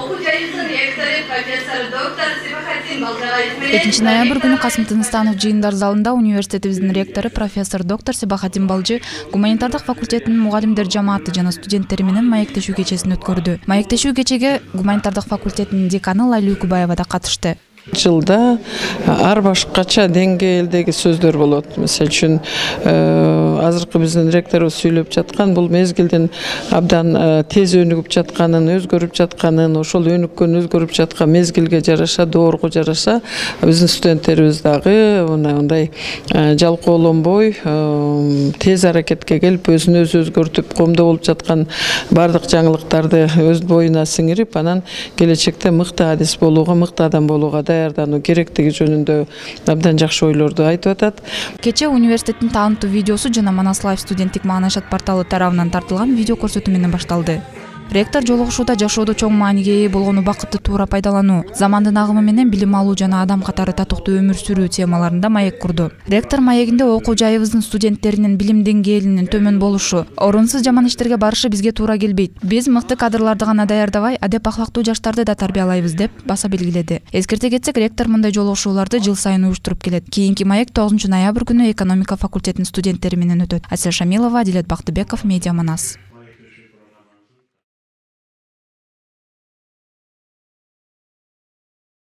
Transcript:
окуу жайыбыздын ректору профессор доктор Себахатин Балжагаев менен 2-ноябрь күнү Касым Тыныстанов жыйындар залында университетибиздин ректору профессор доктор Себахатин Балжы гуманитардык факультетинин мугалимдер жамааты жана студенттери менен маектешүү кечесин өткөрдү. Маектешүү кечеге гуманитардык факультетинин деканы Лайла Үкүбаева да катышты. Жылда ар башкача деңгээлдеги сөздөр болот. Мисалы үчүн азыркы биздин ректорубуз сүйлөп жаткан бул мезгилдин абдан тез өнүгүп жатканын, өзгөрүп жатканын, ошол өнүккөн өзгөрүп жаткан мезгилге жараша, доорго жараша биздин студенттерибиз дагы мындай жалкоолонбой, тез аракетке келип, өзүн өзү өзгөртүп, коомдо болуп жаткан бардык жаңылыктарды өз боюна сиңирип, анан келечекте мыкты адис болууга, мыкты адам болууга даярдануу керектиги жөнүндө абдан жакшы ойлорду айтып атат. Кече университеттин таанымдуу видеосу жана Манас Лайв студенттик маанайшат порталы тарабынан тартылган видео көрсөтүү менен башталды. Ректор жолугушууда жашоодо чоң мааниге ээ болгон убакытты туура пайдалануу, замандын агымы менен билим алуу жана адам катары татыктуу өмүр сүрүү темаларында маек курду. Ректор маегинде окуу жайыбыздын студенттеринин билим деңгээлинин төмөн болушу, орунсуз жаман иштерге барышы бизге туура келбейт. Биз мыкты кадрларды гана даярдабай, адеп ахлактуу жаштарды да тарбиялайбыз деп баса белгиледи. Эскерте кетсек, ректор мындай жолугушууларды жыл сайын уюштуруп келет. Кийинки маек 9-ноябрь күнү экономика факультетинин студенттери менен өтөт. Асия Шамилова, Адилет Бактыбеков, Медиа Манас.